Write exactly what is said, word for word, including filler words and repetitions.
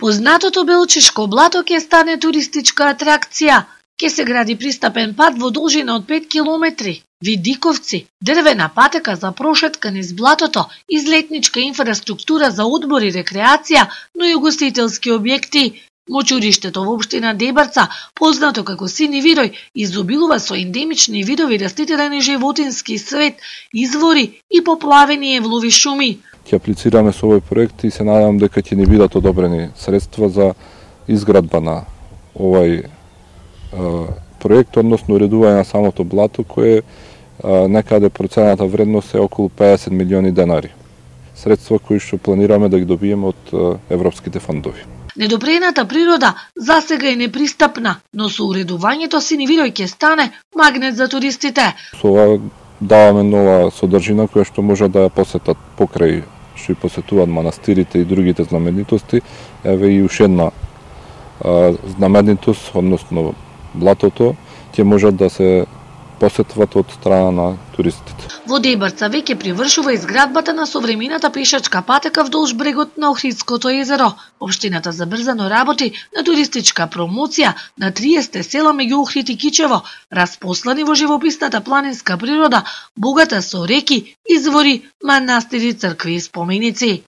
Познатото белчешко блато ќе стане туристичка атракција. Ќе се гради пристапен пат во должина од пет километри. Видиковци, дрвена патека за прошетка низ блатото, излетничка инфраструктура за одмор и рекреација, но и угостителски објекти. Мочуриштето во општина Дебарца, познато како Сини Вирој, изобилува со ендемични видови растителен и животински свет, извори и поплавени евлови шуми. Ќе аплицираме со овој проект и се надевам дека ќе ни бидат одобрени средства за изградба на овој е, проект, односно уредување на самото блато, кое е, некаде процената вредност е околу педесет милиони денари. Средства кои што планираме да ги добиеме од е, европските фондови. Недопрената природа засега е непристапна, но со уредувањето Сини Вирој ќе стане магнет за туристите. Со ова даваме нова содржина која што може да ја посетат покрај што и посетуваат манастирите и другите знаменитости. Еве и уште една а, знаменитост, односно блатото, ќе можат да се посетват од страна на туристите. Во Дебарца веќе привршува изградбата на современата пешачка патека вдолж брегот на Охридското езеро. Општината забрзано работи на туристичка промоција на триесет села меѓу Охрид и Кичево, распослани во живописната планинска природа, богата со реки, извори, манастири, цркви и споменици.